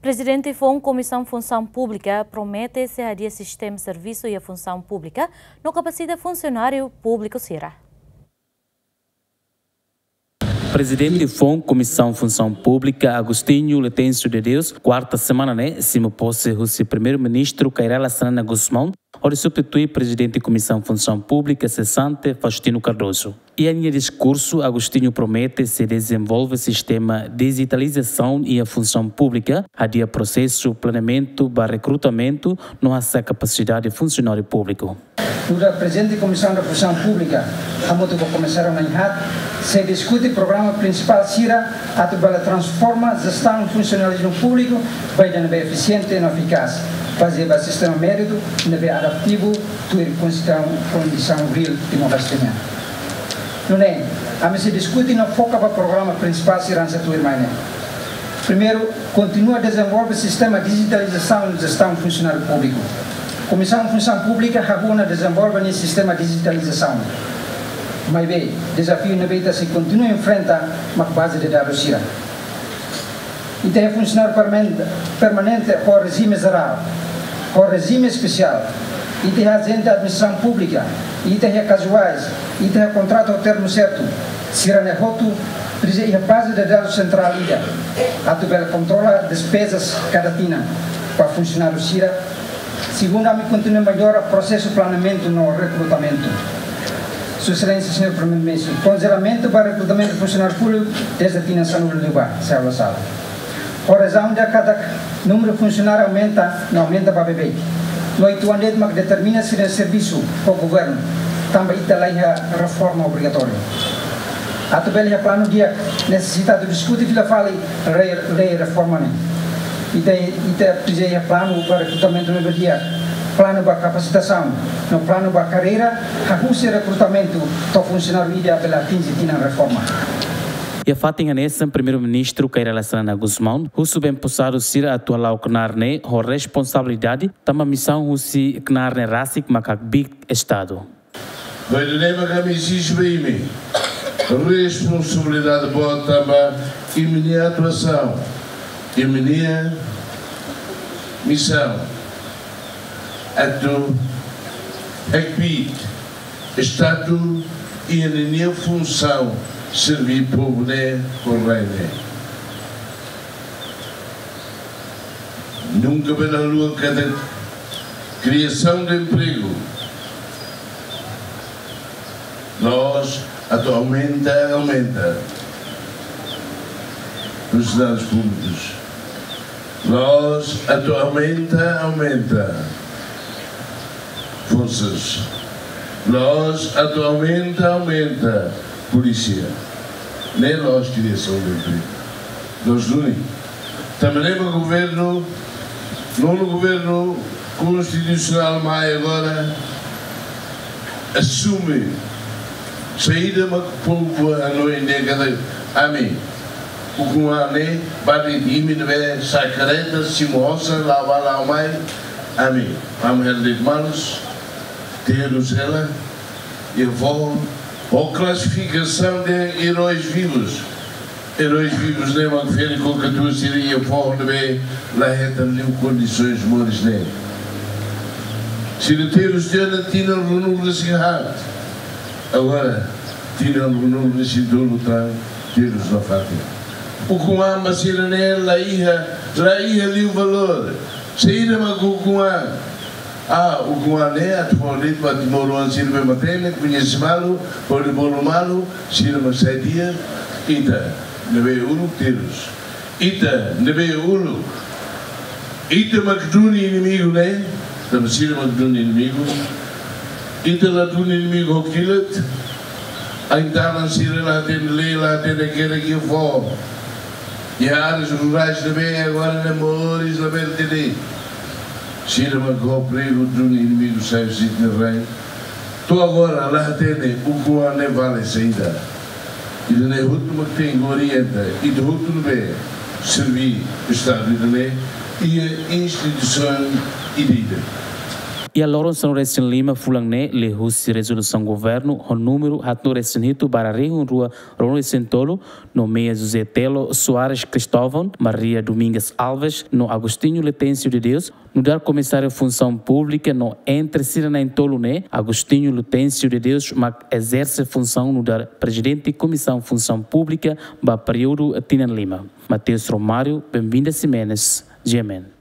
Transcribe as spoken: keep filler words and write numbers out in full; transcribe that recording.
Prezidente foun Komisaun Funsaun Públika promete sei hadi'a sistema servisu iha funsaun públika no kapasita funsionáriu públiku sira. Prezidente foun Komisaun Funsaun Públika, Agostinho Letêncio de Deus, kuarta semana ne'e simu pose husi Primeiru-Ministru Kay Rala Xanana Gusmão, hodi substitui Prezidente Komisaun Funsaun Públika sesante, Faustino Cardoso. Iha nia diskursu, Agostinho promete sei dezenvolve sistema dijitalizasaun iha funsaun públika, hadi'a prosesu planeamentu ba rekrutamentu no hasa'e kapasidade funsionáriu públiku. Nu'udar Prezidente Komisaun da Funsaun Públika, hamutuk ho Komisáriu na'in-haat, sei diskute programa prinsipál sira atu bele transforma jestaun funsionalizmu públiku ba ida ne'ebé efisiente no efikás, bazeia ba sistema méritu ne'ebé adaptivu, tuir kondisaun, kondisaun reál Timor-Leste nian. Nune'e, ami sei diskute no foka ba programa prinsipál sira hanesan tuirmai ne'e. Primeiru, kontinua dezenvolve sistema dijitalizasaun jestaun funsionáriu públiku. Komisaun Funsaun Públika hahú ona dezenvolve nia sistema dijitalizasaun. Maibé, dezafiu ne'ebé ita sei kontinua enfrenta mak baze de dadus sira. Ita iha funsionáriu perman-, permanente ho rejime jerál, ho rejime espesiál. Ita iha ajente administrasaun públika, ita iha kazuais, ita iha kontratu ho termu sertu. Sira-ne'e hotu presiza iha baze de dadus sentrál ida atu bele kontrola despezas kada tinan ba funsionáriu sira. Segundu, ami kontinua mellora prosesu planeamentu no rekrutamentu. Sua Exelénsia Señór Primeiru-Ministru, konjelamentu ba rekrutamentu funsionáriu públiku dezde tinan sanulu-resin-neen, se halo sala. Ho razaun ida katak númeru funsionáriu aumenta, no aumenta ba beibeik. No uitoan de'it mak determina sira-nia servisu ho governu, tanba ita la iha reforma obrigatóriu. Atu bele iha planu di'ak, nesesita atu diskute fila fali lei, lei reforma ne'e. Ita, ita presiza iha planu ba rekrutamentu ne'ebé di'ak, planu ba kapasitasaun, no planu ba karreira, hahú husi rekrutamentu to'o funsionáriu ida bele atinje tinan reforma. Iha fatin hanesan, Primeiru-Ministru Kay Rala Xanana Gusmão husu ba emposadu sira atu hala'o knaar ne'e ho responsabilidade, tanba misaun husi knaar ne'e rasik mak hakbiit Estadu. Ba ida-ne'e mak ami ezije ba imi responsabilidade boot tanba imi-nia atuasaun, imi-nia misaun atu hakbiit Estadu iha ninia funsaun serví povu ne'e ho rai ne'e. Nunka bele haluha katak kriasaun de empregu, la'ós atu aumenta, aumenta funsionárius públikus. La'ós atu aumenta, aumenta forsas. La'ós atu aumenta, aumenta polísia. Ne'e la'ós kriasaun de empregu. La'ós duni. Tanba ne'e mak governu, nonu governu konstitusionál mai agora asume saida mak povu hanoin dehan katak ami, ukun-an ne'e, ba de'it imi ne'ebé sa'e karreta, simu osan, la'o bá la'o mai, ami, ami hela de'it malus, terus hela, iha foho, ho klasifikasaun de eróis vivus. Eróis vivus ne'e mak ferik ho katuas sira iha foho ne'ebé la hetan liu kondisoens moris ne'e. Sira terus tiha ona tinan ruanulu-resin-haat. Agora, tinan ruanulu-resin-tolu tan terus nafatin. Ukun-an ba sira-ne'e la iha, la iha liu valór. Saida mak ukun-an? Ah, ukun-an ne'e atu fó de'it ba timoroan sira ne'ebé matenek, koñese malu, hodi bolu malu, sira mak sai di'ak, ita ne'ebé uluk terus. Ita ne'ebé uluk. Ita mak duni inimigu ne'e, tanba sira mak duni inimigu. Ita la duni inimigu ho kilat. Ain-tanan sira la hatene lei, la hatene kera iha foho. Iha áreas rurais ne'ebé agora ne'e moris labele hatene. Sira mak ho pregu duni inimigu sai husi ita-nia rai. To'o agora la hatene ukun-an ne'e vale saida. Ida-ne'e hotu mak tenke orienta ita hotu ne'ebé serví Estadu ida-ne'e iha instituisaun ida-idak. Iha loron sanulu-resin-lima fulan ne'e, liuhusi rezolusaun governu ho númeru haatnulu-resin-hitu barra rihun rua ruanulu-resin-tolu, nomeia José Telo Soares Cristóvão, Maria Domingas Alves no Agostinho Letêncio de Deus nu'udar Komisáriu Funsaun Públika no entre sira na'in-tolu ne'e, Agostinho Letêncio de Deus mak ezerse funsaun nu'udar Prezidente Komisaun Funsaun Públika ba períodu tinan lima. Mateus Romário, Benvinda Ximenes, G M N.